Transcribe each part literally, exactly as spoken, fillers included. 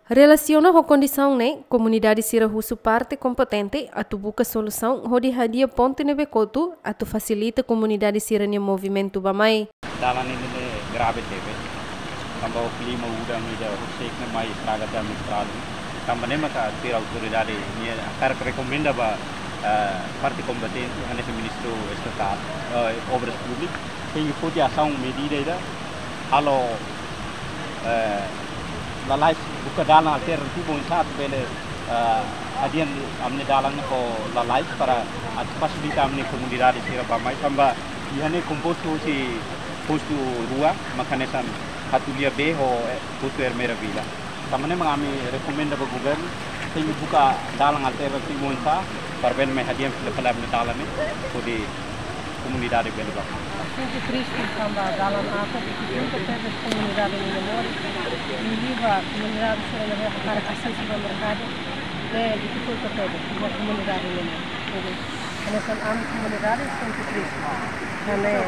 Relasiona ho kondisaun ne'e, komunidade sira husu parte kompetente atu buka solusaun hodi hadi'a ponte ne'ebé kotu atu fasilita komunidade sira-nia movimentu bá-mai. Dalan ne'e grave tebes. Tanba ho klima udan ida horiseik ne'e mai estraga tiha ami estrada. Tanba ne'e maka tuir autoridade nia hakarak rekomenda ba, eh, parte kompetente, hanesan Ministériu Estatál, eh, Obras Públikas, tenke foti asaun medida ida, halo, eh, lalais buka dalan alternativu oinsá atu bele, eh, hadi'a ami-nia dalan ho lalais para atu fasilita ami-nia komunidade sira bá-mai tanba iha ne'e kompostu husi postu rua, maka hanesan Hatulia B ho, eh, postu Ermera Vila. Tanba ne'e mak ami rekomenda ba governu, tenke buka dalan alternativu oinsá para bele mai hadi'a fila fali ami-nia dalan ne'e, hodi komunidade bele bá. Sente triste tanba dalan aat difikulta tebes komunidade nia moris. Liuliu ba komunidade sira ne'ebé hakarak asesu ba merkadu, ne'e difikulta tebes ba komunidade nia moris. Jadi, hanesan ami komunidade sente triste. Tanba ne'e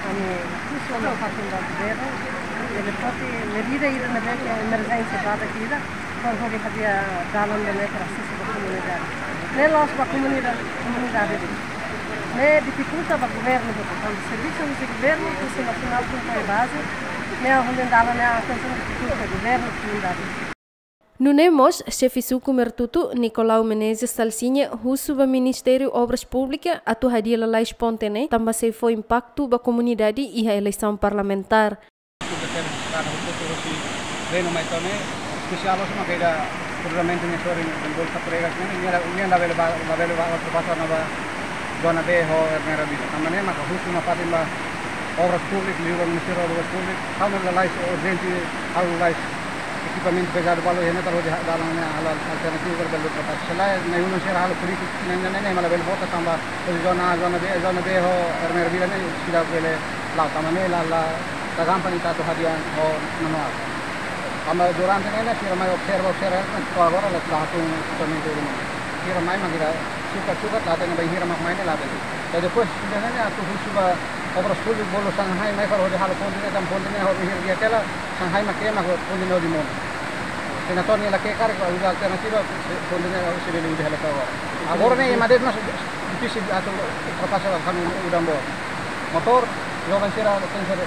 ami husu ona fatin ba governu, bele foti medida ida ne'ebé ke emerjénsia badak ida, para hodi hadi'a dalan ne'e para asesu ba komunidade. Ne'e la'ós ba komunidade, komunidade de'it. Ne'e difikulta ba governu de'it. Kuandu servisu husi governu, husi nasionál tun ba baze, ne'e hodi dalan ne'e atensaun difikulta governu, komunidade. Nune'e mós, xefe suku Mertutu, Nicolau Menezes Salsinha, husu ba Ministériu Obras Públikas atu hadi'a lalais ponte ne'e, tanba sei fó impaktu ba komunidade iha eleisaun parlamentár. Suku tebes karena hukutu husi Reno mai to'o ne'e, espesiál loos maka ida kruzamentu ne'e sorin Bol Capregas ne'e, nia la, nia labele ba, labele ba, ultrapasa ona ba zona B ho Ermera Vila. Tanba ne'e maka husu ona fatin ba Obras Públikas, liuliu ba Ministériu Obras Públikas, halo lalais urjente, halo lalais ekipamentu pezadu balu iha ne'e para hodi dalan ne'e halo alternativu para bele ultrapasa. Selae, na'i-ulun sira halo polítika, ne'e, ne'e, ne'e, ne'e, mak labele vota tanba husi zona A, zona B, zona B ho Ermera Vila ne'e seidauk bele la'o. Tanba ne'e la, la, la gampang ita atu hadi'a ho manuál. Tanba durante ne'e, ne'e, sira mai observa, observa, ne'e, to'o agora la, la hatún totalmente rumah. Sira mai mak ita sukat-sukat, la hatene bainhira mak mai ne'e la hatene. Jadi depois, ne'e, ne'e, atu husu ba Obras Públikas bolu Shanghai mai para hodi halo ponte ne'e, tanba ponte ne'e hodi hir dia tela, Shanghai mak ke mak ponte ne'e hodi monu. Sena to'o nia la ke karik ba uza alternativa, ponte ne'e hodi sebe uza hela agora. Agora ne'e ema de'it mós difisil atu ultrapasa kanu udan boot. Motór, joven sira tenke ser,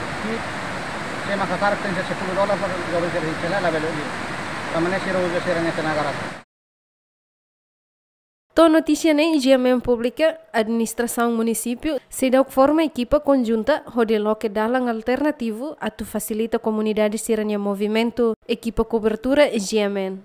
se ema karik tenke ser sepuluh dolar para joven sira hi'it, selae labele liu. Tanba ne'e sira uza sira-nia tenaga ras. To'o notísia ne'e, G M N publika, administrasaun munisípiu seidauk forma ekipa konjunta hodi loke dalan alternativu atu fasilita komunidade sira-nia movimentu. Ekipa kobertura G M N.